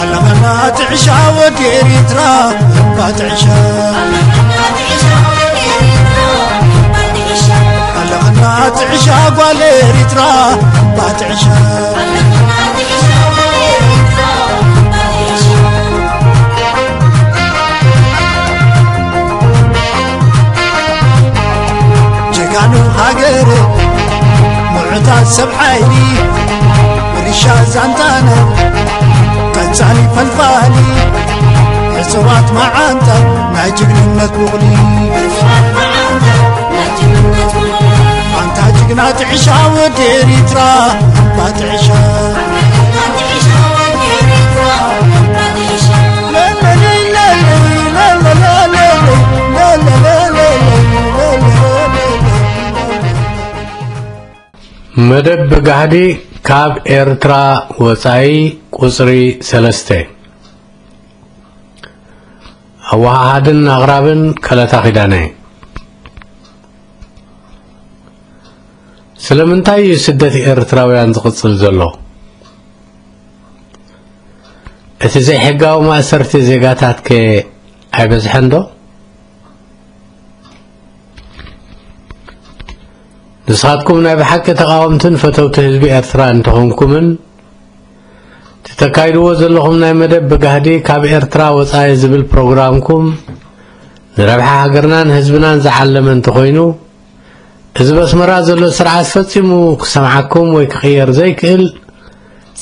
ኣለና ጥዕሻ ወዲ ኤሪትራ እባ ጥዕሻ። ኣለና ጥዕሻ ጓል ኤሪትራ እባ ጥዕሻ። ጀጋኑ ሃገር፣ ምዑታት ሰብ ሓይሊ፣ ርሻ ዛንታና፣ ቀጻሊ ፈልፋሊ፣ ዕጹዋት መዓንጣ፣ ናይ ጅግንነት ቡቕሊ። ኣንታ ጅግና ጥዕሻ ወዲ ኤሪትራ፣ ኣንታ ጥዕሻ። መደብ ብጋህዲ ካብ ኤርትራ ወጻኢ ቁጽሪ ሰለስተ። ኣወሃሃድን ኣቕራብን ከለታ ኪዳነ። ስለምንታይ እዩ ስደት ኤርትራውያን ዝቕጽል ዘሎ? እቲ ዘይሕጋዊ ማእሰርቲ ዜጋታት ከ ኣይበዝሐን ዶ? ንስኻትኩም ናይ ብሓቂ ተቓወምትን ፈተውቲ ህዝቢ ኤርትራ እንተኾንኩምን፣ ተተካይድዎ ዘለኹም ናይ መደብ ብጋህዲ ካብ ኤርትራ ወጻኢ ዝብል ፕሮግራምኩም ንረብሓ ሃገርናን ህዝብናን ዝዓለመ እንተኾይኑ፣ እዚ በስመራ ዘሎ ስርዓት ፈጺሙ ክሰምዓኩም ወይ ክቕየር ዘይክእል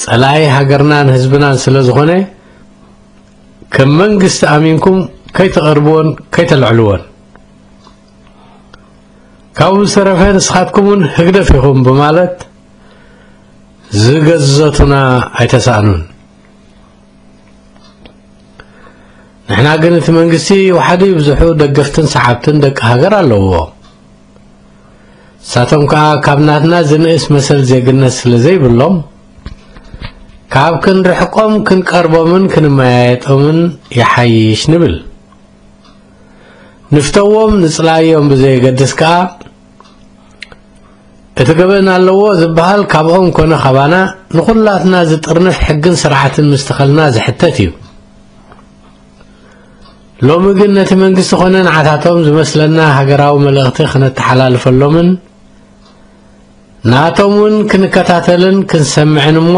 ጸላኢ ሃገርናን ህዝብናን ስለ ዝኾነ፣ ከም መንግስቲ ኣሚንኩም ከይተቐርብዎን ከይተልዕልዎን። ካብኡ ዝተረፈ ንስኻትኩም እውን ህግደፍ ኢኹም ብማለት ዝገዘቱና ኣይተሳእኑን። ንሕና ግን እቲ መንግስቲ ይውሓዱ ይብዝሑ ደገፍትን ሰዓብትን ደቂ ሃገር ኣለውዎ። ንሳቶም ከኣ ካብ ናትና ዝንእስ መሰል ዜግነት ስለ ዘይብሎም፣ ካብ ክንርሕቆም ክንቀርቦምን ክንመያየጦምን ይሓይሽ ንብል። ንፍተዎም ንጽላዮም ብዘየገድስ ከኣ፣ እቲ ገበን ኣለዎ ዝበሃል ካብኦም ኮነ ካባና ንኹላትና ዝጥርንፍ ሕግን ስርዓትን ምስትኸልና ዝሕተት እዩ። ሎሚ ግን ነቲ መንግስቲ ኮነ ንዓታቶም ዝመስለና ሃገራዊ መልእኽቲ ክነተሓላልፈሎምን ናቶም እውን ክንከታተልን ክንሰምዕን እሞ፣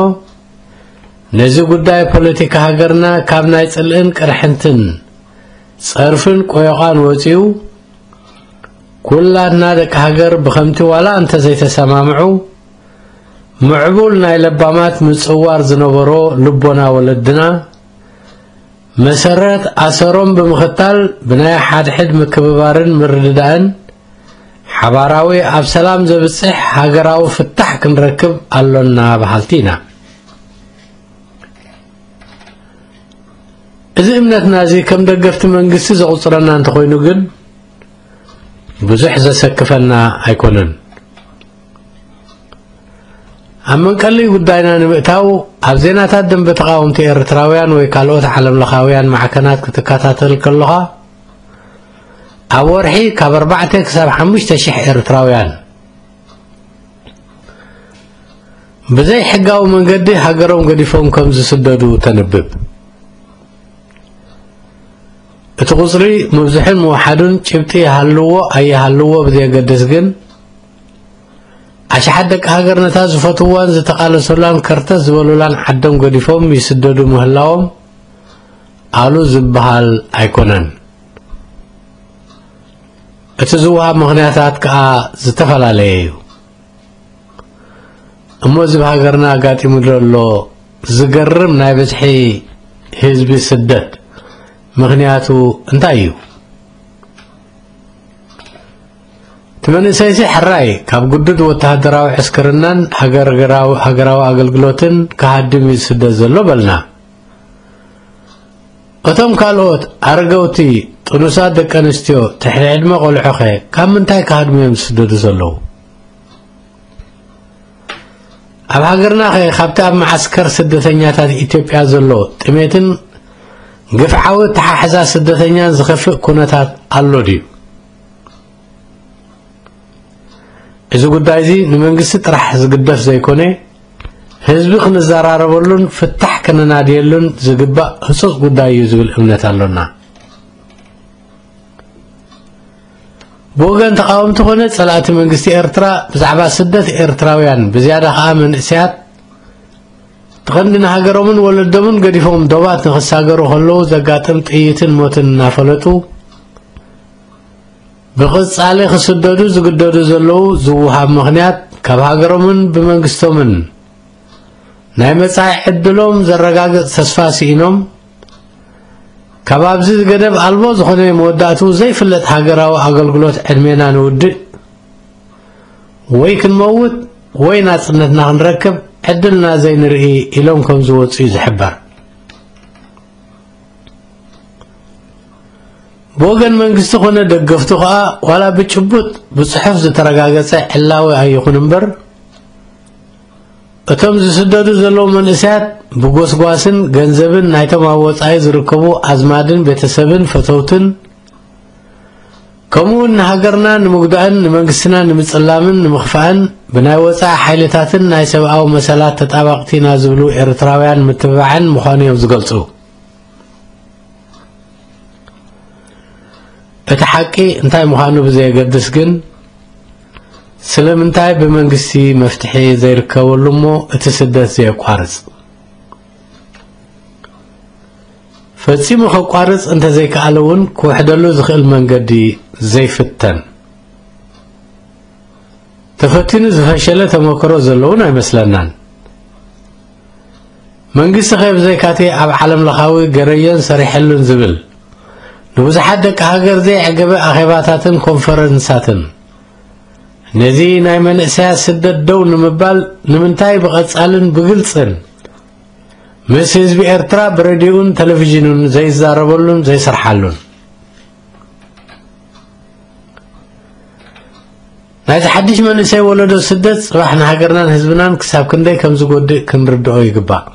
ነዚ ጉዳይ ፖለቲካ ሃገርና ካብ ናይ ጽልእን ቅርሕንትን ጸርፍን ቆዮቓን ወጺኡ፣ ኩላትና ደቂ ሃገር ብኸምቲ ዋላ እንተ ዘይተሰማምዑ፣ ምዕቡል ናይ ለባማት ምጽዋር ዝነበሮ ልቦና ወለድና፣ መሰረት ኣሰሮም ብምኽታል ብናይ ሓድሕድ ምክብባርን ምርድዳእን ሓባራዊ ኣብ ሰላም ዘብጽሕ ሃገራዊ ፍታሕ ክንረክብ ኣሎና በሃልቲ ኢና። እዚ እምነትና እዚ ከም ደገፍቲ መንግስቲ ዘቑጽረና እንተኾይኑ ግን ብዙሕ ዘሰክፈና ኣይኮነን። ኣብ መንቀሊ ጉዳይና ንምእታው፣ ኣብ ዜናታት ደንበ ተቓወምቲ ኤርትራውያን ወይ ካልኦት ዓለምለኻውያን ማዕከናት ክትከታተል ከለኻ፣ ኣብ ወርሒ ካብ ኣርባዕተ ክሳብ ሓሙሽተ ሽሕ ኤርትራውያን ብዘይ ሕጋዊ መንገዲ ሃገሮም ገዲፎም ከም ዝስደዱ ተንብብ። እቲ ቁጽሪ ምብዝሑን ምውሓዱን ጭብጢ ይሃልዎ ኣይሃልዎ ብዘየገድስ ግን፣ ኣሽሓት ደቂ ሃገር ነታ ዝፈትውዋን ዝተቓለሰላን ከርተት ዝበሉላን ዓዶም ገዲፎም ይስደዱ ምህላዎም ኣሉ ዝበሃል ኣይኮነን። እቲ ዝወሃብ ምኽንያታት ከኣ ዝተፈላለየ እዩ። እሞ እዚ ብሃገርና ኣጋጢሙ ዘሎ ዝገርም ናይ ብዝሒ ህዝቢ ስደት ምኽንያቱ እንታይ እዩ? እቲ መንእሰይሲ ሕራይ ካብ ግዱድ ወተሃደራዊ ዕስክርናን ሃገርገራዊ-፣ ሃገራዊ ኣገልግሎትን ክሃድም እዩ ዝስደት ዘሎ በልና። እቶም ካልኦት ኣረገውቲ፣ ጥኑሳት ደቂ ኣንስትዮ፣ ትሕቲ ዕድመ ቆልዑኸ ካብ ምንታይ ክሃድሙ እዮም ዝስደዱ ዘለዉ? ኣብ ሃገርናኸ ካብቲ ኣብ መዓስከር ስደተኛታት ኢትዮጵያ ዘሎ ጥሜትን ግፍዓዊ ኣተሓሕዛ ስደተኛን ዝኸፍእ ኩነታት ኣሎ ድዩ? እዚ ጉዳይ እዚ ንመንግስቲ ጥራሕ ዝግደፍ ዘይኮነ፣ ህዝቢ ክንዘራረበሉን ፍታሕ ከነናድየሉን ዝግባእ ህጹጽ ጉዳይ እዩ ዝብል እምነት ኣሎና። ብወገን ተቓወምቲ ኮነ ጸላእቲ መንግስቲ ኤርትራ፣ ብዛዕባ ስደት ኤርትራውያን፣ ብዝያዳ ከኣ መንእሰያት፣ እቲ ቀንዲ ንሃገሮምን ወለዶምን ገዲፎም ዶባት ንኽሳገሩ ከለዉ ዘጋጥም ጥይትን ሞትን እናፈለጡ፣ ብቐጻሊ ክስደዱ ዝግደዱ ዘለዉ ዝወሃብ ምኽንያት፣ ካብ ሃገሮምን ብመንግስቶምን ናይ መጻኢ ዕድሎም ዘረጋግጽ ተስፋ ስኢኖም፣ ካብ ኣብዚ ገደብ ኣልቦ ዝኾነ መወዳእትኡ ዘይፍለጥ ሃገራዊ ኣገልግሎት ዕድሜና ንውድእ፣ ወይ ክንመውት ወይ ናጽነትና ክንረክብ ዕድልና ዘይንርኢ ኢሎም ከም ዝወጹ እዩ ዝሕበር። ብወገን መንግስቲ ኮነ ደገፍቱ ከኣ ዋላ ብጭቡጥ ብጽሑፍ ዝተረጋገጸ ዕላዊ ኣይኹን እምበር፣ እቶም ዝስደዱ ዘለዉ መንእሰያት ብጎስጓስን ገንዘብን ናይቶም ኣብ ወጻኢ ዝርከቡ ኣዝማድን ቤተሰብን ፈተውትን፣ ከምኡውን ንሃገርና ንምጉዳእን ንመንግስትና ንምጽላምን ንምኽፋእን ብናይ ወጻኢ ሓይልታትን ናይ ሰብኣዊ መሰላት ተጣባቕቲ ኢና ዝብሉ ኤርትራውያን ምትብባዕን ምዃኑ እዮም ዝገልጹ። እቲ ሓቂ እንታይ ምዃኑ ብዘየገድስ ግን፣ ስለምንታይ ብመንግስቲ መፍትሒ ዘይርከበሉ እሞ እቲ ስደት ዘየቋርጽ? ፈጺሙ ከቋርጽ እንተዘይከኣለ እውን ክውሕደሉ ዝኽእል መንገዲ ዘይፍተን? ተፈቲኑ ዝፈሸለ ተመክሮ ዘለውን ኣይመስለናን። መንግስቲ ኸ ብዘይካቲ ኣብ ዓለም ለኻዊ ገረዮን ሰሪሐሉን ዝብል ንብዙሓት ደቂ ሃገር ዘየዕገበ ኣኼባታትን ኮንፈረንሳትን፣ ነዚ ናይ መንእሰያት ስደት ደው ንምባል ንምንታይ ብቐጻልን ብግልጽን ምስ ህዝቢ ኤርትራ ብሬድዮኡን ቴሌቪዥኑን ዘይዛረበሉን ዘይሰርሓሉን? ናይዚ ሓድሽ መንእሰይ ወለዶ ስደት ጽባሕ ንሃገርናን ህዝብናን ክሳብ ክንደይ ከም ዝጎድእ ክንርድኦ ይግባእ።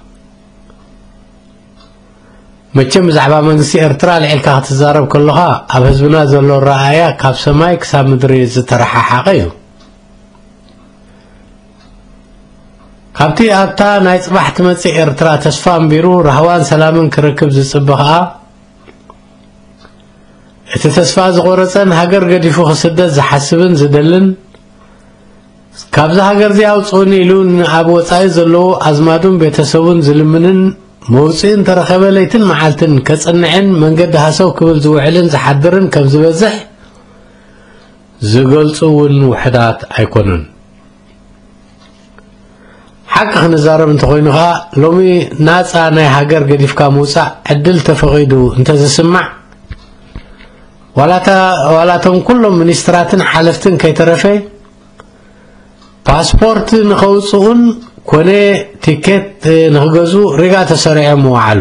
መቸም ብዛዕባ መንግስቲ ኤርትራ ልዒልካ ክትዛረብ ከለኻ፣ ኣብ ህዝብና ዘሎ ኣረኣእያ ካብ ሰማይ ክሳብ ምድሪ ዝተረሓሓቐ እዩ። ካብቲ ኣብታ ናይ ጽባሕ ትመጽእ ኤርትራ ተስፋ ኣንቢሩ ራህዋን ሰላምን ክረክብ ዝጽበ ኸኣ፣ እቲ ተስፋ ዝቖረጸን ሃገር ገዲፉ ክስደድ ዝሓስብን ዝደልን፣ ካብዚ ሃገር እዚ ኣውጽኡኒ ኢሉ ንኣብ ወጻኢ ዘለዉ ኣዝማዱን ቤተሰቡን ዝልምንን፣ መውጽኢ እንተረኸበ ለይትን መዓልትን ከጽንዕን መንገዲ ሃሰው ክብል ዝውዕልን ዝሓድርን ከም ዝበዝሕ ዝገልጹ እውን ውሑዳት ኣይኮኑን። ሓቂ ክንዛረብ እንተኾይኑ ኸኣ፣ ሎሚ ናጻ ናይ ሃገር ገዲፍካ ምውጻእ ዕድል ተፈቒዱ እንተዝስማዕ፣ ዋላታ-፣ ዋላቶም ኩሎም ሚኒስትራትን ሓለፍትን ከይተረፈ፣ ፓስፖርት ንኸውጽኡን ኮነ ቲኬት ንኽገዝኡ ሪጋ ተሰሪዖም ምወዓሉ።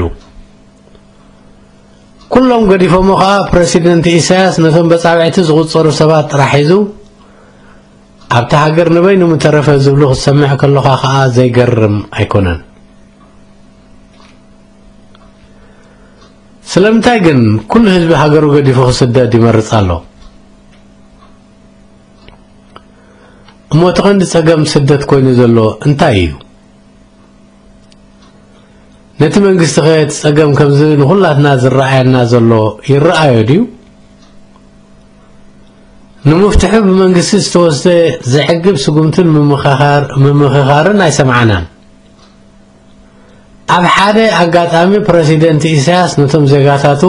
ኩሎም ገዲፎሞ ኸኣ፣ ፕረሲደንት ኢሳያስ ነቶም በጻብዕቲ ዝቑጸሩ ሰባት ጥራሕ ሒዙ፣ ኣብታ ሃገር ንበይኑ ምተረፈ ዝብሉ ክትሰምዕ ከለኻ ኸኣ ዘይገርም ኣይኮነን። ስለምንታይ ግን ኩሉ ህዝቢ ሃገሩ ገዲፉ ክስደድ ይመርጽ ኣሎ? እሞ እቲ ቀንዲ ጸገም ስደት ኮይኑ ዘሎ እንታይ እዩ? ነቲ መንግስቲ ኸ እቲ ጸገም ከምዚ ንኹላትና ዝረኣየና ዘሎ ይረኣዮ ድዩ? ንምፍትሑ ብመንግስቲ ዝተወስደ ዘዕግብ ስጉምትን ምምኽኻር-፣ ምምኽኻርን ኣይሰማዕናን። ኣብ ሓደ ኣጋጣሚ ፕረሲደንት ኢሳያስ ነቶም ዜጋታቱ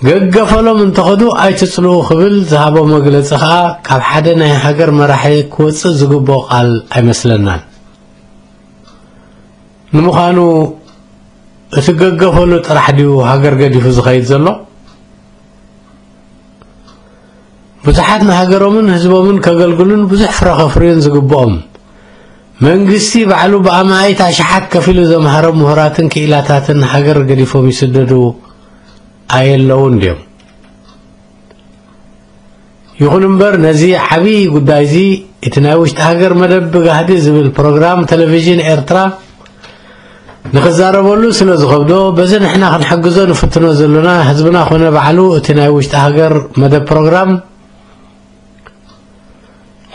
ገገፈሎም እንተኸዱ ኣይትጽልኡ ክብል ዝሃቦ መግለጺ ኸኣ ካብ ሓደ ናይ ሃገር መራሒ ክወጽእ ዝግብኦ ቃል ኣይመስለናን። ንምዃኑ እቲ ገገፈሉ ጥራሕ ድዩ ሃገር ገዲፉ ዝኸይድ ዘሎ? ብዙሓት ንሃገሮምን ህዝቦምን ከገልግሉን ብዙሕ ፍረ ከፍርዩን ዝግብኦም፣ መንግስቲ ባዕሉ ብኣማኢት ኣሽሓት ከፊሉ ዘምሃሮም ምሁራትን ክኢላታትን ሃገር ገዲፎም ይስደዱ ኣየለውን ድዮም? ይኹን እምበር፣ ነዚ ዓብዪ ጉዳይ እዚ እቲ ናይ ውሽጢ ሃገር መደብ ብጋህዲ ዝብል ፕሮግራም ቴሌቪዥን ኤርትራ ንኽዛረበሉ ስለ ዝኸብዶ፣ በዚ ንሕና ክንሕግዞ ንፍትኖ ዘሎና ህዝብና ኮነ ባዕሉ እቲ ናይ ውሽጢ ሃገር መደብ ፕሮግራም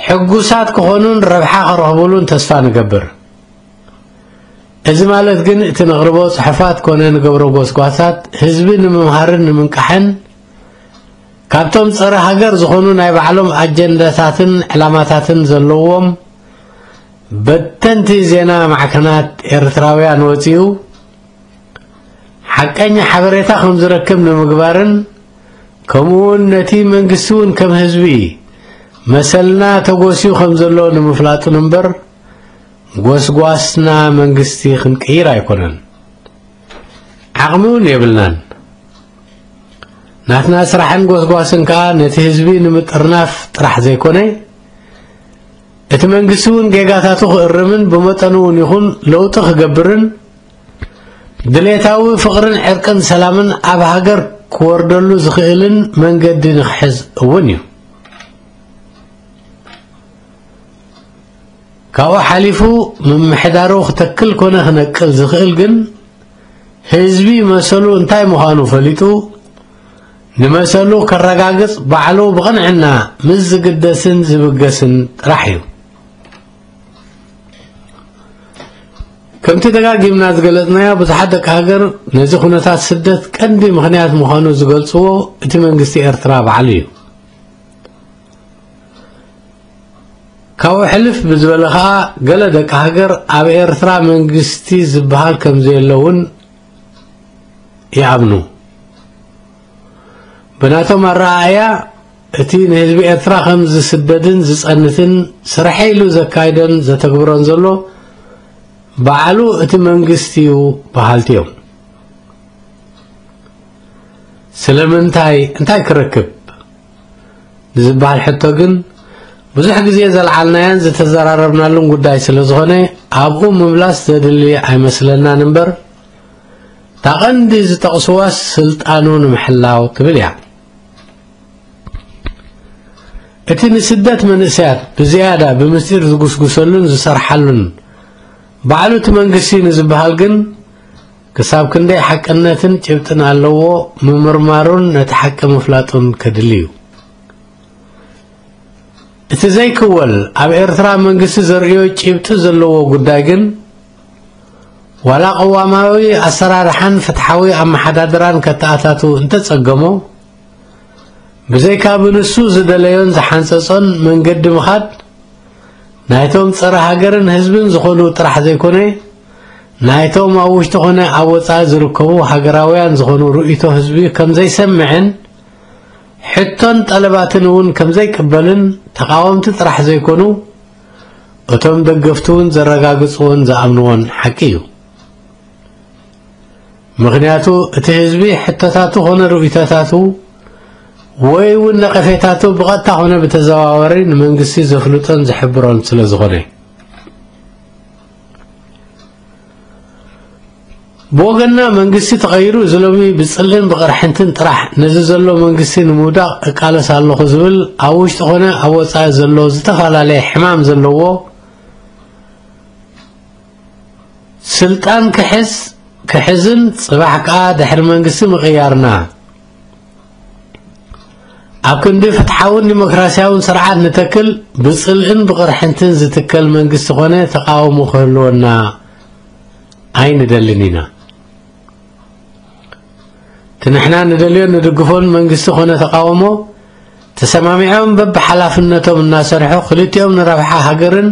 ሕጉሳት ክኾኑን ረብሓ ክረኽቡሉን ተስፋ ንገብር። እዚ ማለት ግን እቲ ነቕርቦ ጽሑፋት ኮነ ንገብሮ ጎስጓሳት ህዝቢ ንምምሃርን ንምንቃሕን ካብቶም ጸረ ሃገር ዝኾኑ ናይ ባዕሎም ኣጀንዳታትን ዕላማታትን ዘለዎም በተንቲ ዜና ማዕከናት ኤርትራውያን ወጺኡ ሓቀኛ ሓበሬታ ከም ዝረክብ ንምግባርን ከምኡውን ነቲ መንግስቲ እውን ከም ህዝቢ መሰልና ተጎስዩ ከም ዘሎ ንምፍላጡን እምበር ጎስጓስና መንግስቲ ክንቅይር ኣይኮነን። ዓቕሚ እውን የብልናን። ናትና ስራሕን ጎስጓስን ከኣ ነቲ ህዝቢ ንምጥርናፍ ጥራሕ ዘይኮነ፣ እቲ መንግስቲ እውን ጌጋታቱ ክእርምን ብመጠኑ እውን ይኹን ለውጢ ክገብርን ድሌታዊ ፍቕርን ዕርቅን ሰላምን ኣብ ሃገር ክወርደሉ ዝኽእልን መንገዲ ንክሕዝ እውን እዩ። ካብኡ ሓሊፉ ምምሕዳሩ ክተክል ኮነ ክነቅል ዝኽእል ግን ህዝቢ መሰሉ እንታይ ምዃኑ ፈሊጡ ንመሰሉ ከረጋግጽ ባዕሉ ብቕንዕና ምስ ዝግደስን ዝብገስን ጥራሕ እዩ። ከምቲ ደጋጊምና ዝገለጽናዮ ብዙሓት ደቂ ሃገር ነዚ ኩነታት ስደት ቀንዲ ምኽንያት ምዃኑ ዝገልጽዎ እቲ መንግስቲ ኤርትራ ባዕሉ እዩ። ካብኡ ሕልፍ ብዝበለ ኸኣ ገለ ደቂ ሃገር ኣብ ኤርትራ መንግስቲ ዝበሃል ከም ዘየለ እውን ይኣምኑ። ብናቶም ኣረኣእያ እቲ ንህዝቢ ኤርትራ ከም ዝስደድን ዝጸንትን ስርሐ ኢሉ ዘካይዶን ዘተግብሮን ዘሎ ባዕሉ እቲ መንግስቲ እዩ በሃልቲ እዮም። ስለምንታይ እንታይ ክረክብ ንዝበሃል ሕቶ ግን ብዙሕ ግዜ ዘልዓልናዮን ዝተዘራረብናሉን ጉዳይ ስለ ዝኾነ ኣብኡ ምምላስ ዘድሊ ኣይመስለናን እምበር እታ ቀንዲ ዝጠቕስዋ ስልጣኑ ንምሕላው ትብል እያ። እቲ ንስደት መንእሰያት ብዝያዳ ብምስጢር ዝጉስጉሰሉን ዝሰርሓሉን ባዕሉ እቲ መንግስቲ ንዝበሃል ግን ክሳብ ክንደይ ሓቅነትን ጭብጥን ኣለዎ ምምርማሩን ነቲ ሓቂ ምፍላጡን ከድሊ እዩ። እቲ ዘይክወል ኣብ ኤርትራ መንግስቲ ዘርእዮ ጭብጢ ዘለዎ ጉዳይ ግን ዋላ ቅዋማዊ ኣሰራርሓን ፍትሓዊ ኣመሓዳድራን ከተኣታቱ እንተጸገሞ ብዘይካ ብንሱ ዝደለዮን ዝሓንጸጾን መንገዲ ምኻድ ናይቶም ጸረ ሃገርን ህዝብን ዝኾኑ ጥራሕ ዘይኮነ ናይቶም ኣብ ውሽጢ ኮነ ኣብ ወጻኢ ዝርከቡ ሃገራውያን ዝኾኑ ርእይቶ ህዝቢ ከም ዘይሰምዕን ሕቶን ጠለባትን እውን ከም ዘይቅበልን ተቓወምቲ ጥራሕ ዘይኮኑ እቶም ደገፍቲ እውን ዘረጋግጽዎን ዝኣምንዎን ሓቂ እዩ። ምኽንያቱ እቲ ህዝቢ ሕቶታቱ ኮነ ርእይቶታቱ ወይ እውን ነቐፌታቱ ብቐጥታ ኮነ ብተዘዋዋሪ ንመንግስቲ ዘፍልጦን ዝሕብሮን ስለ ዝኾነ። ብወገንና መንግስቲ ተቐይሩ እዚ ሎሚ ብጽልእን ብቕርሕንትን ጥራሕ ነዚ ዘሎ መንግስቲ ንምውዳቕ እቃለስ ኣለኹ ዝብል ኣብ ውሽጢ ኮነ ኣብ ወጻኢ ዘሎ ዝተፈላለየ ሕማም ዘለዎ ስልጣን ክሕዝ ክሕዝን ጽባሕ ከኣ ድሕሪ መንግስቲ ምቕያርና ኣብ ክንዲ ፍትሓውን ዲሞክራሲያውን ስርዓት ንተክል ብጽልእን ብቕርሕንትን ዝትከል መንግስቲ ኮነ ተቃውሞ ክህልወና ኣይንደልን ኢና። እቲ ንሕና ንደልዮን ንድግፎን መንግስቲ ኮነ ተቃውሞ ተሰማሚዖም በብሓላፍነቶም እናሰርሑ ክልቲኦም ንረብሓ ሃገርን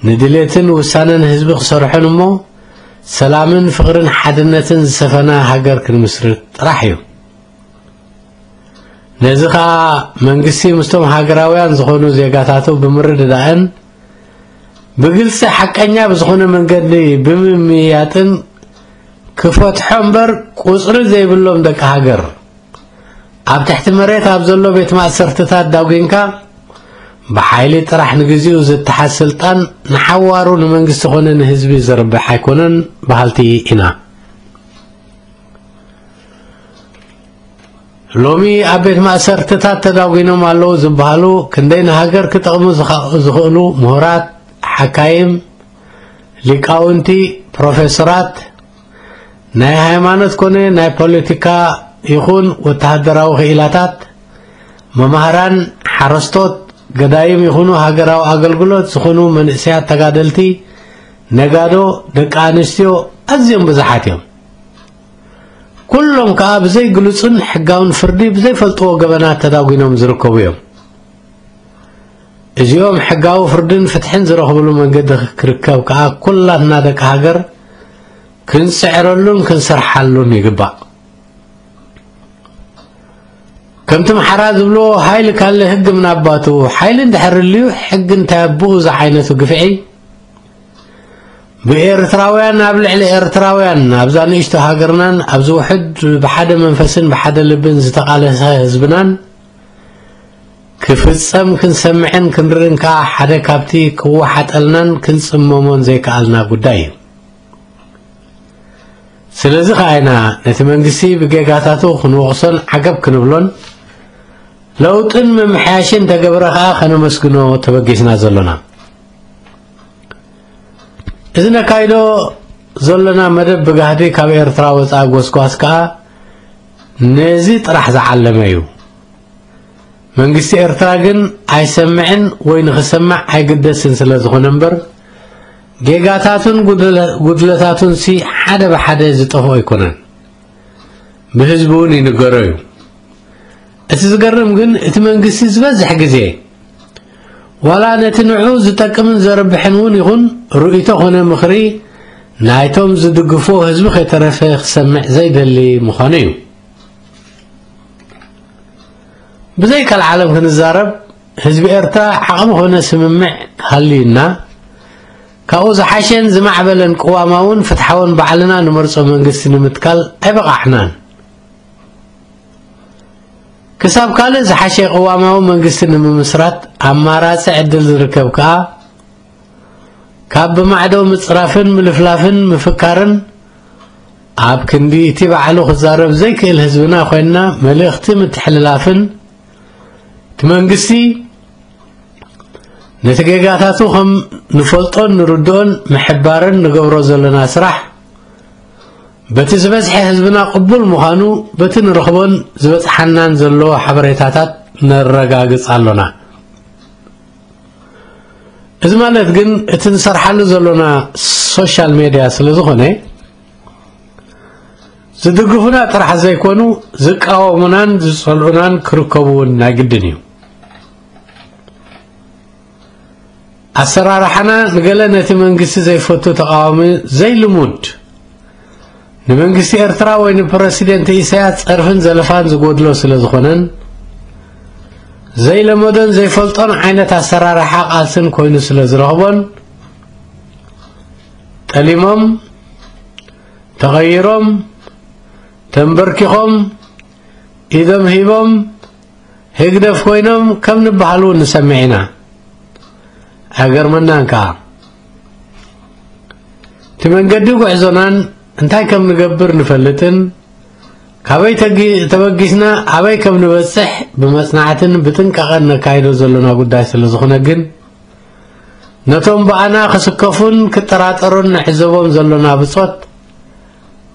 ንድሌትን ውሳነን ህዝቢ ክሰርሑን እሞ ሰላምን ፍቕርን ሓድነትን ዝሰፈና ሃገር ክንምስርት ጥራሕ እዩ። ነዚ ኸኣ መንግስቲ ምስቶም ሃገራውያን ዝኾኑ ዜጋታቱ ብምርድዳእን ብግልጺ ሓቀኛ ብዝኾነ መንገዲ ብምምይያጥን ክፈትሖ እምበር ቁጽሪ ዘይብሎም ደቂ ሃገር ኣብ ትሕቲ መሬት ኣብ ዘሎ ቤት ማእሰርትታት ዳጒንካ ብሓይሊ ጥራሕ ንግዚኡ ዝተሓዝ ስልጣን ንሓዋሩ ንመንግስቲ ኮነ ንህዝቢ ዝርብሕ ኣይኮነን በሃልቲ ኢና። ሎሚ ኣብ ቤት ማእሰርትታት ተዳጒኖም ኣለዉ ዝበሃሉ ክንደይ ንሃገር ክጠቕሙ ዝኸ-፣ ዝኽእሉ ምሁራት፣ ሓካይም፣ ሊቃውንቲ፣ ፕሮፌሰራት፣ ናይ ሃይማኖት ኮነ ናይ ፖለቲካ ይኹን ወተሃደራዊ ክኢላታት፣ መማህራን፣ ሓረስቶት፣ ገዳይም ይኹኑ ሃገራዊ ኣገልግሎት ዝኾኑ መንእሰያት ተጋደልቲ፣ ነጋዶ፣ ደቂ ኣንስትዮ ኣዝዮም ብዙሓት እዮም። ኩሎም ከኣ ብዘይ ግሉጽን ሕጋውን ፍርዲ ብዘይፈልጥዎ ገበናት ተዳጒኖም ዝርከቡ እዮም። እዚኦም ሕጋዊ ፍርድን ፍትሕን ዝረኽብሉ መንገዲ ክርከብ ከኣ ኩላትና ደቂ ሃገር ክንጽዕረሉን ክንሰርሓሉን ይግባእ። ከምቲ ምሓራ ዝብልዎ፣ "ሓይል ካለ ህግ ምን አባቱ"፣ ሓይሊ እንድሕር ልዩ ሕጊ እንታይ ኣቦኡ ዝዓይነቱ ግፍዒ ብኤርትራውያን ኣብ ልዕሊ ኤርትራውያን ኣብዛ ንእሽቶ ሃገርናን ኣብዚ ውሕድ ብሓደ መንፈስን ብሓደ ልብን ዝተቓለሰ ህዝብናን ክፍጸም ክንሰምዕን ክንርእን ከኣ ሓደ ካብቲ ክወሓጠልናን ክንጽመሞን ዘይከኣልና ጉዳይ እዩ። ስለዚ ከኣ ኢና ነቲ መንግስቲ ብጌጋታቱ ክንወቕሶን ዓገብ ክንብሎን ለውጥን ምምሕያሽን ተገብረ ከኣ ከነመስግኖ ተበጊስና ዘሎና። እዚ ነካይዶ ዘሎና መደብ ብጋህዲ ካብ ኤርትራ ወጻኢ ጎስጓስ ከኣ ነዚ ጥራሕ ዝዓለመ እዩ። መንግስቲ ኤርትራ ግን ኣይሰምዕን ወይ ንኽሰማዕ ኣይግደስን ስለ ዝኾነ እምበር፣ ጌጋታቱን ጉድለ-፣ ጉድለታቱንሲ ሓደ ብሓደ ዝጠፍኦ ኣይኮነን። ብህዝቢ እውን ይንገሮ እዩ። እቲ ዝገርም ግን እቲ መንግስቲ ዝበዝሕ ግዜ ዋላ ነቲ ንዑ ዝጠቅምን ዘርብሕን እውን ይኹን ርእይቶ ኮነ ምኽሪ ናይቶም ዝድግፎ ህዝቢ ከይተረፈ ክሰምዕ ዘይደሊ ምዃኑ እዩ። ብዘይ ቀልዓለም ክንዛረብ፣ ህዝቢ ኤርትራ ዓቕሚ ኮነ ስምምዕ ሃልዩና፣ ካብኡ ዝሓሸን ዝማዕበለን ቅዋማውን ፍትሓውን ባዕልና ንመርጾ መንግስቲ ንምትካል ኣይበቓዕናን። ክሳብ ካልእ ዝሓሸ ቅዋማዊ መንግስቲ ንምምስራት ኣማራጺ ዕድል ዝርከብ ከኣ፣ ካብ ብማዕዶ ምጽራፍን ምልፍላፍን ምፍካርን፣ ኣብ ክንዲ እቲ ባዕሉ ክዛረብ ዘይክእል ህዝብና ኮይንና መልእኽቲ ምትሕልላፍን፣ እቲ መንግስቲ ነቲ ጌጋታቱ ከም ንፈልጦን ንርድኦን ምሕባርን ንገብሮ ዘለና ስራሕ፣ በቲ ዝበዝሐ ህዝብና ቅቡል ምዃኑ በቲ ንረኽቦን ዝበጽሓናን ዘሎ ሓበሬታታት ነረጋግጽ ኣሎና። እዚ ማለት ግን እቲ ንሰርሓሉ ዘሎና ሶሻል ሜድያ ስለ ዝኾነ፣ ዝድግፉና ጥራሕ ዘይኮኑ ዝቃወሙናን ዝጸልኡናን ክርከቡ እውን ናይ ግድን እዩ። ኣሰራርሓና ንገለ ነቲ መንግስቲ ዘይፈቱ ተቃዋሚ ዘይልሙድ፣ ንመንግስቲ ኤርትራ ወይ ንፕረሲደንት ኢሳያስ ጸርፍን ዘለፋን ዝጎድሎ ስለ ዝኾነን፣ ዘይለመዶን ዘይፈልጦን ዓይነት ኣሰራርሓ ቃልስን ኮይኑ ስለ ዝረኽቦን፣ ጠሊሞም፣ ተቐይሮም፣ ተንበርኪኾም፣ ኢዶም ሂቦም፣ ህግደፍ ኮይኖም ከም ንበሃሉ ንሰምዕ ኢና። ኣይገርመናን ከኣ። እቲ መንገዲ ጉዕዞናን እንታይ ከም ንገብር ንፈልጥን፣ ካበይ ተጊ-፣ ተበጊስና ኣበይ ከም ንበጽሕ ብመጽናዕትን ብጥንቃቐን ነካይዶ ዘሎና ጉዳይ ስለ ዝኾነ ግን፣ ነቶም ብኣና ክስከፉን ክጠራጠሩን ንዕዘቦም ዘሎና ብጾት፣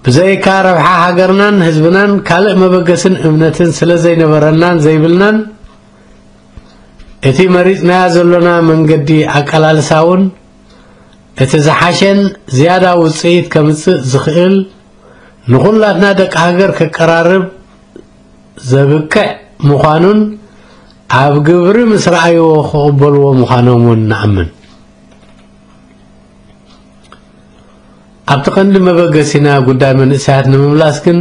ብዘይካ ረብሓ ሃገርናን ህዝብናን ካልእ መበገስን እምነትን ስለ ዘይነበረናን ዘይብልናን፣ እቲ መሪጽናዮ ዘሎና መንገዲ ኣቀላልሳ እውን እቲ ዝሓሸን ዝያዳ ውጽኢት ከምጽእ ዝኽእል፣ ንኹላትና ደቂ ሃገር ከቀራርብ ዘብቅዕ ምዃኑን ኣብ ግብሪ ምስ ረኣይዎ ክቕበልዎ ምዃኖም እውን ንኣምን። ኣብቲ ቀንዲ መበገሲና ጉዳይ መንእሰያት ንምምላስ ግን፣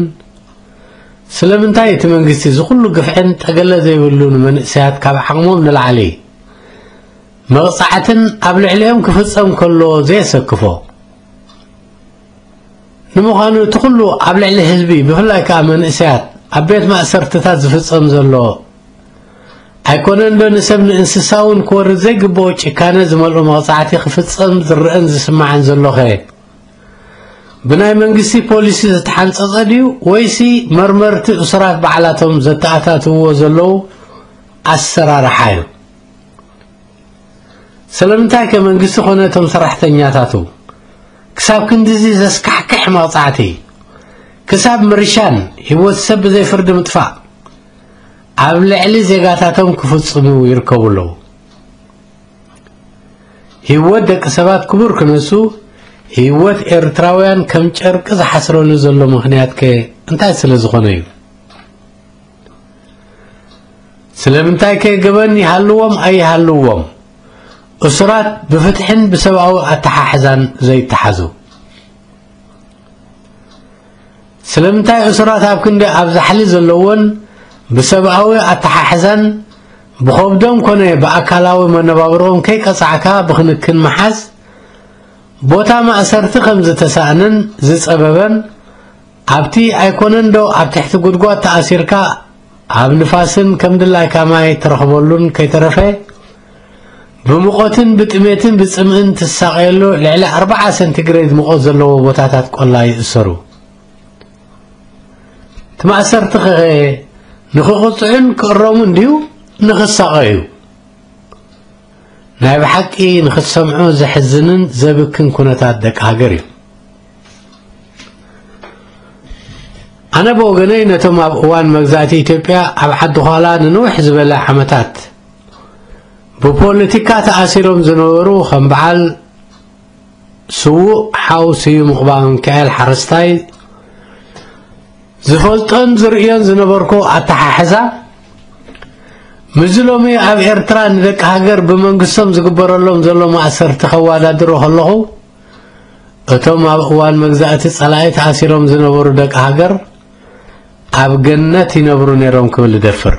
ስለምንታይ እቲ መንግስቲ እዚ ኩሉ ግፍዕን ጠገለ ዘይብሉ ንመንእሰያት ካብ ዓቕሞም ንላዕሊ መቕጻዕትን ኣብ ልዕሊኦም ክፍጸም ከሎ ዘየሰክፎ? ንምዃኑ እቲ ኩሉ ኣብ ልዕሊ ህዝቢ፣ ብፍላይ ከኣ መንእሰያት፣ ኣብ ቤት ማእሰርትታት ዝፍጸም ዘሎ ኣይኮነን ዶ ንሰብ ንእንስሳ እውን ክወርድ ዘይግብኦ ጭካነ ዝመልኦ መቕጻዕቲ ክፍጸም ዝረአን ዝስማዕን ዘሎኸ? ብናይ መንግስቲ ፖሊሲ ዝተሓንጸጸ ድዩ ወይሲ መርመርቲ እሱራት ባዕላቶም ዘተኣታትውዎ ዘለዉ ኣሰራርሓ እዩ? ስለምንታይ ከ መንግስቲ ኮነ እቶም ሰራሕተኛታቱ ክሳብ ክንድዚ ዘስካሕክሕ መቕጻዕቲ፣ ክሳብ ምርሻን ህይወት ሰብ ብዘይ ፍርዲ ምጥፋእ ኣብ ልዕሊ ዜጋታቶም ክፍጽሙ ይርከቡ ኣለዉ? ህይወት ደቂ ሰባት ክቡር ክነሱ፣ ህይወት ኤርትራውያን ከም ጨርቂ ዝሓስረሉ ዘሎ ምኽንያት ከ እንታይ ስለ ዝኾነ እዩ? ስለምንታይ ከ ገበን ይሃልዎም ኣይሃልዎም፣ እሱራት ብፍትሕን ብሰብኣዊ ኣተሓሕዛን ዘይተሓዙ? ስለምንታይ እሱራት ኣብ ክንዲ ኣብ ዛሕሊ ዘለዎን ብሰብኣዊ ኣተሓሕዛን ብኸብዶም ኮነ ብኣካላዊ መነባብሮኦም ከይቀጻዕካ ብክንክን ምሓዝ ቦታ ማእሰርቲ ከም ዝተሳእነን ዝጸበበን፣ ኣብቲ ኣይኮነን ዶ ኣብ ትሕቲ ጉድጓድ ተኣሲርካ ኣብ ንፋስን ከም ድላይካ ማይ ትረኽበሉን ከይተረፈ፣ ብሙቐትን ብጥሜትን ብጽምእን ትሳቐየሉ ልዕሊ ኣርብዓ ሰንቲግሬድ ሙቐት ዘለዎ ቦታታት ቆላ ይእሰሩ። እቲ ማእሰርቲ ኸ ንኽቕጽዑን ክእረሙን ድዩ ንኽሳቐዩ? ናይ ብሓቂ ንኽትሰምዖ ዘሕዝንን ዘብክን ኩነታት ደቂ ሃገር እዩ። ኣነ ብወገነይ ነቶም ኣብ እዋን መግዛእቲ ኢትዮጵያ ኣብ ዓዲ ዃላ ንንውሕ ዝበለ ዓመታት ብፖለቲካ ተኣሲሮም ዝነበሩ ከም በዓል ስዉእ ሓው ስዩም ቕባ ሚካኤል ሓረስታይ ዝፈልጦን ዝርእዮን ዝነበርኩ ኣተሓሕዛ፣ ምስዚ ሎሚ ኣብ ኤርትራ ንደቂ ሃገር ብመንግስቶም ዝግበረሎም ዘሎ ማእሰርቲ ከወዳድሮ ከለኹ፣ እቶም ኣብ እዋን መግዛእቲ ጸላኢ ተኣሲሮም ዝነበሩ ደቂ ሃገር ኣብ ገነት ይነብሩ ነይሮም ክብል እደፍር።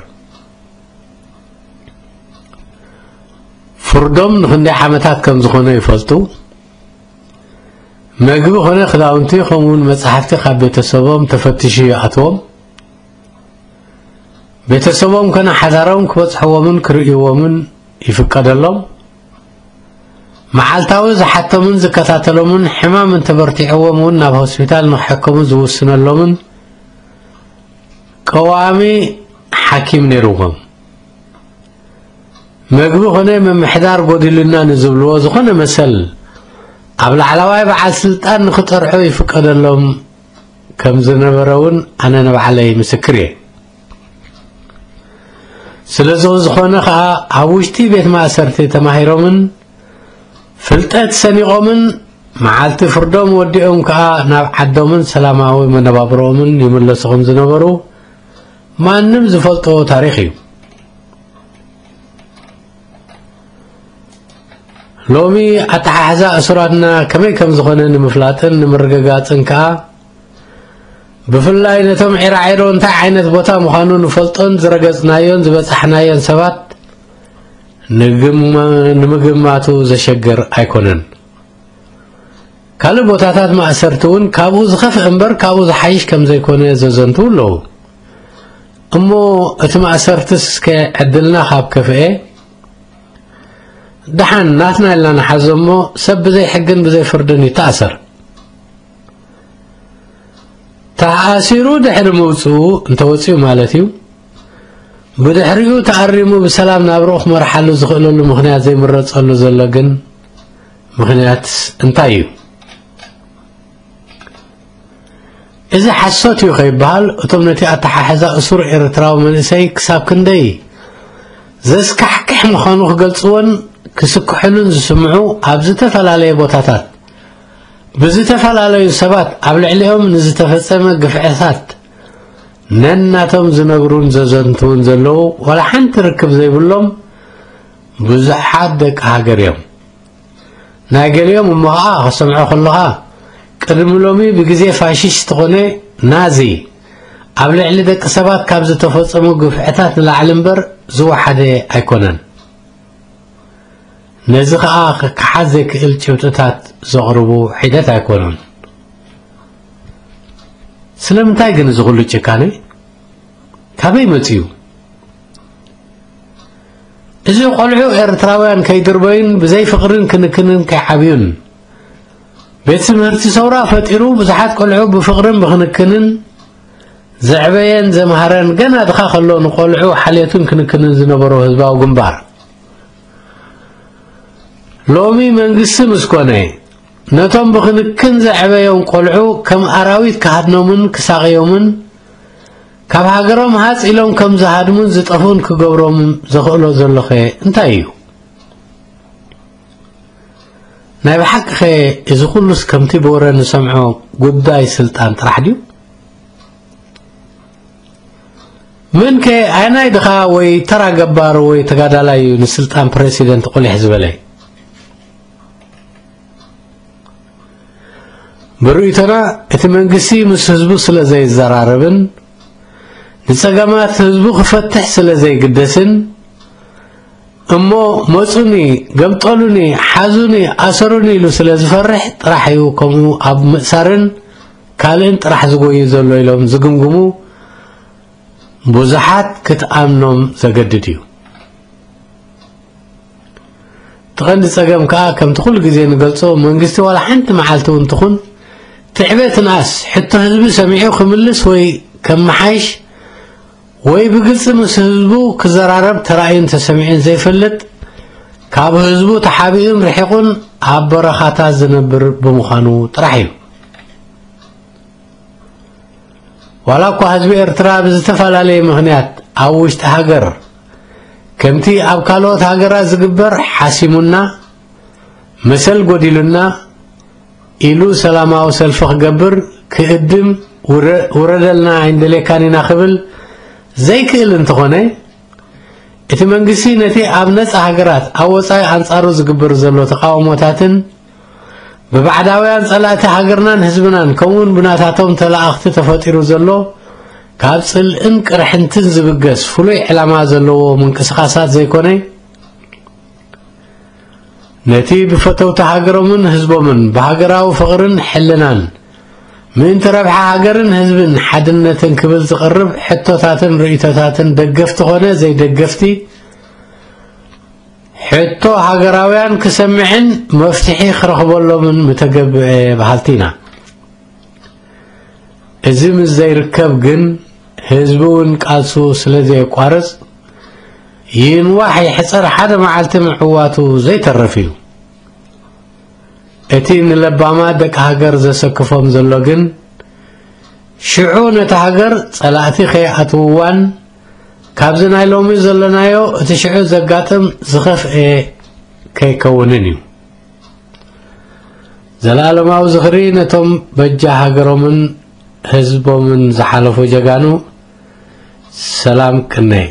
ፍርዶም ንኽንደይ ዓመታት ከም ዝኾነ ይፈልጡ። መግቢ ኾነ ክዳውንቲ፣ ከምኡውን መጻሕፍቲ ካብ ቤተሰቦም ተፈቲሹ ይኣትዎም። ቤተሰቦም ኮነ ሓዳሮም ክበጽሕዎምን ክርእይዎምን ይፍቀደሎም። መዓልታዊ ዝሓቶምን ዝከታተሎምን፣ ሕማም እንተበርቲዕዎም እውን ናብ ሆስፒታል ንክሕከሙ ዝውስነሎምን ቀዋሚ ሓኪም ነይርዎም። መግቢ ኾነ ምምሕዳር ጎዲሉና ንዝብልዎ ዝኾነ መሰል ኣብ ላዕለዋይ በዓል ስልጣን ንክጠርሑ ይፍቀደሎም ከም ዝነበረ እውን ኣነ ንባዕለይ ምስክር እየ። ስለዚ ዝኾነ ኸኣ ኣብ ውሽጢ ቤት ማእሰርቲ ተማሂሮምን ፍልጠት ሰኒቖምን መዓልቲ ፍርዶም ወዲኦም ከኣ ናብ ዓዶምን ሰላማዊ መነባብሮኦምን ይምለሱ ከም ዝነበሩ ማንም ዝፈልጦ ታሪኽ እዩ። ሎሚ ኣተሓሕዛ እሱራትና ከመይ ከም ዝኾነ ንምፍላጥን ንምርግጋጽን ከኣ፣ ብፍላይ ነቶም ዒራዒሮ እንታይ ዓይነት ቦታ ምዃኑ ንፈልጦን ዝረገጽናዮን ዝበጻሕናዮን ሰባት ንግም-፣ ንምግማቱ ዘሸግር ኣይኮነን። ካልእ ቦታታት ማእሰርቲ እውን ካብኡ ዝኸፍእ እምበር ካብኡ ዝሓይሽ ከም ዘይኮነ ዘዘንትዉ ኣለዉ። እሞ እቲ ማእሰርትስ እስከ ዕድልና ካብ ከፍኤ፣ ደሓን ናትና ኢልና ንሓዞ እሞ፣ ሰብ ብዘይ ሕግን ብዘይ ፍርድን ይተኣሰር። ተኣሲሩ ድሕሪ ምውጽኡ፣ እንተወጺኡ ማለት እዩ፣ ብድሕሪኡ ተኣሪሙ ብሰላም ናብርኡ ክመርሓሉ ዝኽእለሉ ምኽንያት ዘይምረጸሉ ዘሎ ግን ምኽንያት እንታይ እዩ? እዚ ሓሶት እዩ ከይበሃል፣ እቶም ነቲ ኣተሓሕዛ እሱር ኤርትራዊ መንእሰይ ክሳብ ክንደይ ዘስካሕክሕ ምዃኑ ክገልጽዎን ክስክሕሉን ዝስምዑ ኣብ ዝተፈላለየ ቦታታት ብዝተፈላለዩ ሰባት ኣብ ልዕሊኦም ንዝተፈጸመ ግፍዕታት ነናቶም ዝነግሩን ዘዘንትዉን ዘለዉ ዋላ ሓንቲ ርክብ ዘይብሎም ብዙሓት ደቂ ሃገር እዮም። ናይ ገሊኦም እሞ ኸዓ ክሰምዖ ከለኻ፣ ቅድሚ ሎሚ ብግዜ ፋሽስት ኾነ ናዚ ኣብ ልዕሊ ደቂ ሰባት ካብ ዝተፈጸሙ ግፍዕታት ንላዕሊ እምበር ዝወሓደ ኣይኮነን። ነዚ ኸዓ ክከሓስ ዘይክእል ጭብጥታት ዘቕርቡ ሒደት ኣይኮኑን። ስለምንታይ ግን እዚ ኹሉ ጭካነ? ካበይ መጺኡ? እዚ ቆልዑ ኤርትራውያን ከይድርበዩን ብዘይ ፍቕርን ክንክንን ከይዓብዩን፣ ቤት ትምህርቲ ሰውራ ፈጢሩ ብዙሓት ቆልዑ ብፍቕርን ብክንክንን ዘዕበየን ዘምሃረን፣ ገና ድኻ ከሎ ንቆልዑ ሓልዮትን ክንክንን ዝነበሮ ህዝባዊ ግንባር፣ ሎሚ መንግስቲ ምስ ኮነ፣ ነቶም ብክንክን ዘዕበዮም ቆልዑ ከም ኣራዊት ክሃድኖምን ክሳቕዮምን፣ ካብ ሃገሮም ሃጽ ኢሎም ከም ዝሃድሙን ዝጠፍኡን ክገብሮም ዘኽእሎ ዘሎኸ እንታይ እዩ? ናይ ብሓቂኸ እዚ ኩሉስ ከምቲ ብወረ ንሰምዖ ጉዳይ ስልጣን ጥራሕ ድዩ? መንከ ኣየናይ ድኻ ወይ ተራ ገባር ወይ ተጋዳላይ እዩ ንስልጣን ፕረሲደንት ቁሊሕ ዝበለ? ብርእይቶና እቲ መንግስቲ ምስ ህዝቡ ስለ ዘይዘራረብን ንጸገማት ህዝቡ ክፈትሕ ስለ ዘይግደስን እሞ መጹኒ፣ ገምጠሉኒ፣ ሓዙኒ፣ ኣሰሩኒ ኢሉ ስለ ዝፈርሕ ጥራሕ እዩ ከምኡ ኣብ ምእሳርን ካልእን ጥራሕ ዝጎዩ ዘሎ ኢሎም ዝግምግሙ ብዙሓት ክትኣምኖም ዘገድድ እዩ። እቲ ቀንዲ ጸገም ከኣ ከምቲ ኩሉ ግዜ ንገልጾ መንግስቲ ዋላ ሓንቲ መዓልቲ እውን ትኹን ትዕበትንኣስ ሕቶ ህዝቢ ሰሚዑ ክምልስ ወይ ከመሓይሽ ወይ ብግልጺ ምስ ህዝቡ ክዘራረብ ተራእዩን ተሰሚዑን ዘይፈልጥ ካብ ህዝቡ ተሓቢኡን ርሒቑን ኣብ በረኻታት ዝነብር ብምዃኑ ጥራሕ እዩ። ዋላ እኳ ህዝቢ ኤርትራ ብዝተፈላለየ ምኽንያት ኣብ ውሽጢ ሃገር ከምቲ ኣብ ካልኦት ሃገራት ዝግበር ሓሲሙና፣ መሰል ጎዲሉና ኢሉ ሰላማዊ ሰልፊ ክገብር ክእድም፣ ውረ-፣ ውረደልና ኣይንደልየካን ኢና ክብል ዘይክእል እንተኾነ፣ እቲ መንግስቲ ነቲ ኣብ ነጻ ሃገራት ኣብ ወጻኢ ኣንጻሩ ዝግበር ዘሎ ተቃውሞታትን ብባዕዳውያን ጸላእቲ ሃገርናን ህዝብናን ከምኡውን ብናታቶም ተላኣኽቲ ተፈጢሩ ዘሎ ካብ ጽልእን ቅርሕንትን ዝብገስ ፍሉይ ዕላማ ዘለዎ ምንቅስቓሳት ዘይኮነ፣ ነቲ ብፈተውቲ ሃገሮምን ህዝቦምን ብሃገራዊ ፍቕርን ሕልናን ምእንቲ ረብሓ ሃገርን ህዝብን ሓድነትን ክብል ዝቐርብ ሕቶታትን ርእይቶታትን ደገፍቲ ኾነ ዘይደገፍቲ ሕቶ ሃገራውያን ክሰምዕን መፍትሒ ክረኽበሎምን ምተገብአ በሃልቲ ኢና። እዚ ምስ ዘይርከብ ግን ህዝቢ እውን ቃልሱ ስለ ዘየቋርጽ ይንዋሕ ይሕጸር ሓደ መዓልቲ ምዕዋቱ ዘይተርፍ እዩ። እቲ ንለባማት ደቂ ሃገር ዘሰክፎም ዘሎ ግን ሽዑ ነታ ሃገር ጸላእቲ ከይኣትውዋን ካብዚ ናይ ሎሚ ዘለናዮ እቲ ሽዑ ዘጋጥም ዝኸፍኤ ከይከውንን እዩ። ዘለኣለማዊ ዝኽሪ ነቶም በጃ ሃገሮምን ህዝቦምን ዝሓለፉ ጀጋኑ። ሰላም ቅነይ።